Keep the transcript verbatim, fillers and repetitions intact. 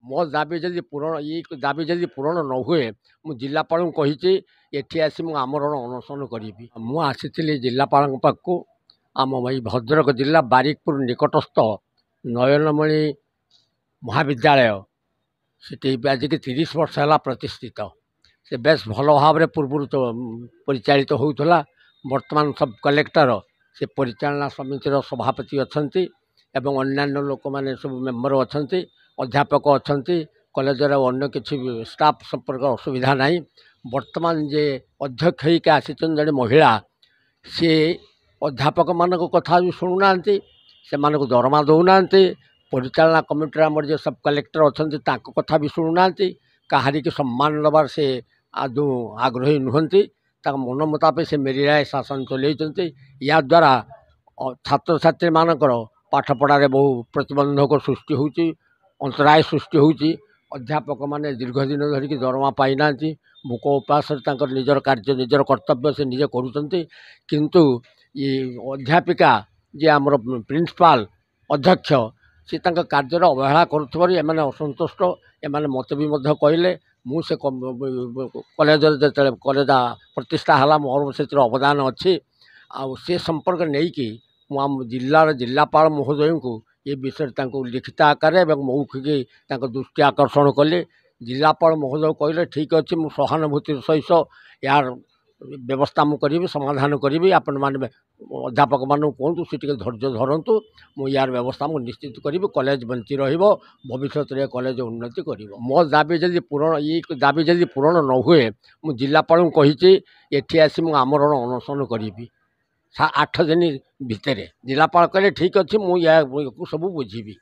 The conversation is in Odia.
ମୋ ଦାବି ଯଦି ପୂରଣ ଏଇ ଦାବି ଯଦି ପୂରଣ ନ ହୁଏ, ମୁଁ ଜିଲ୍ଲାପାଳଙ୍କୁ କହିଛି ଏଠି ଆସି ମୁଁ ଆମରଣ ଅନଶନ କରିବି। ମୁଁ ଆସିଥିଲି ଜିଲ୍ଲାପାଳଙ୍କ ପାଖକୁ। ଆମ ଏଇ ଭଦ୍ରକ ଜିଲ୍ଲା ବାରିକପୁର ନିକଟସ୍ଥ ନୟନମଣି ମହାବିଦ୍ୟାଳୟ, ସେଠି ଆଜିକି ତିରିଶ ବର୍ଷ ହେଲା ପ୍ରତିଷ୍ଠିତ। ସେ ବେଶ ଭଲ ଭାବରେ ପୂର୍ବରୁ ପରିଚାଳିତ ହେଉଥିଲା। ବର୍ତ୍ତମାନ ସବ୍ କଲେକ୍ଟର ସେ ପରିଚାଳନା ସମିତିର ସଭାପତି ଅଛନ୍ତି ଏବଂ ଅନ୍ୟାନ୍ୟ ଲୋକମାନେ ସବୁ ମେମ୍ବର ଅଛନ୍ତି, ଅଧ୍ୟାପକ ଅଛନ୍ତି। କଲେଜର ଅନ୍ୟ କିଛି ଷ୍ଟାଫ୍ ସମ୍ପର୍କ ଅସୁବିଧା ନାହିଁ। ବର୍ତ୍ତମାନ ଯେ ଅଧ୍ୟକ୍ଷ ହେଇକି ଆସିଛନ୍ତି ଜଣେ ମହିଳା, ସିଏ ଅଧ୍ୟାପକମାନଙ୍କ କଥା ବି ଶୁଣୁନାହାନ୍ତି, ସେମାନଙ୍କୁ ଦରମା ଦେଉନାହାନ୍ତି। ପରିଚାଳନା କମିଟିରେ ଆମର ଯିଏ ସବ୍ କଲେକ୍ଟର ଅଛନ୍ତି, ତାଙ୍କ କଥା ବି ଶୁଣୁନାହାନ୍ତି। କାହାରିକି ସମ୍ମାନ ଦେବାର ସେ ଆଦୌ ଆଗ୍ରହୀ ନୁହନ୍ତି। ତାଙ୍କ ମନ ମୁତାବକ ସେ ମେରିରାୟ ଶାସନ ଚଲେଇଛନ୍ତି। ୟାଦ୍ୱାରା ଛାତ୍ରଛାତ୍ରୀମାନଙ୍କର ପାଠପଢ଼ାରେ ବହୁ ପ୍ରତିବନ୍ଧକ ସୃଷ୍ଟି ହେଉଛି, ଅନ୍ତରାୟ ସୃଷ୍ଟି ହେଉଛି। ଅଧ୍ୟାପକମାନେ ଦୀର୍ଘ ଦିନ ଧରିକି ଦରମା ପାଇନାହାନ୍ତି। ଭୋକ ଉପାସରେ ତାଙ୍କର ନିଜର କାର୍ଯ୍ୟ, ନିଜର କର୍ତ୍ତବ୍ୟ ସେ ନିଜେ କରୁଛନ୍ତି। କିନ୍ତୁ ଏ ଅଧ୍ୟାପିକା ଯିଏ ଆମର ପ୍ରିନ୍ସିପାଲ ଅଧ୍ୟକ୍ଷ, ସେ ତାଙ୍କ କାର୍ଯ୍ୟରେ ଅବହେଳା କରୁଥିବାରୁ ଏମାନେ ଅସନ୍ତୁଷ୍ଟ। ଏମାନେ ମୋତେ ବି ମଧ୍ୟ କହିଲେ। ମୁଁ ସେ କଲେଜରେ ଯେତେବେଳେ କଲେଜ ପ୍ରତିଷ୍ଠା ହେଲା, ମୋର ସେଥିରେ ଅବଦାନ ଅଛି। ଆଉ ସେ ସମ୍ପର୍କ ନେଇକି ମୁଁ ଆମ ଜିଲ୍ଲାର ଜିଲ୍ଲାପାଳ ମହୋଦୟଙ୍କୁ ଏ ବିଷୟରେ ତାଙ୍କୁ ଲିଖିତ ଆକାରରେ ଏବଂ ମୌଖିକ ତାଙ୍କ ଦୃଷ୍ଟି ଆକର୍ଷଣ କଲି। ଜିଲ୍ଲାପାଳ ମହୋଦୟ କହିଲେ, ଠିକ୍ ଅଛି, ମୁଁ ସହାନୁଭୂତିର ସହିତ ଏହାର ବ୍ୟବସ୍ଥା ମୁଁ କରିବି, ସମାଧାନ କରିବି। ଆପଣମାନେ ଅଧ୍ୟାପକମାନଙ୍କୁ କୁହନ୍ତୁ, ସେ ଟିକେ ଧୈର୍ଯ୍ୟ ଧରନ୍ତୁ। ମୁଁ ୟାର ବ୍ୟବସ୍ଥା ମୁଁ ନିଶ୍ଚିତ କରିବି। କଲେଜ ବଞ୍ଚି ରହିବ, ଭବିଷ୍ୟତରେ କଲେଜ ଉନ୍ନତି କରିବ। ମୋ ଦାବି ଯଦି ପୂରଣ ଏଇ ଦାବି ଯଦି ପୂରଣ ନ ହୁଏ, ମୁଁ ଜିଲ୍ଲାପାଳଙ୍କୁ କହିଛି ଏଠି ଆସି ମୁଁ ଆମରଣ ଅନଶନ କରିବି ଆଠ ଦିନ ଭିତରେ। ଜିଲ୍ଲାପାଳ କହିଲେ, ଠିକ୍ ଅଛି, ମୁଁ ୟାକୁ ସବୁ ବୁଝିବି।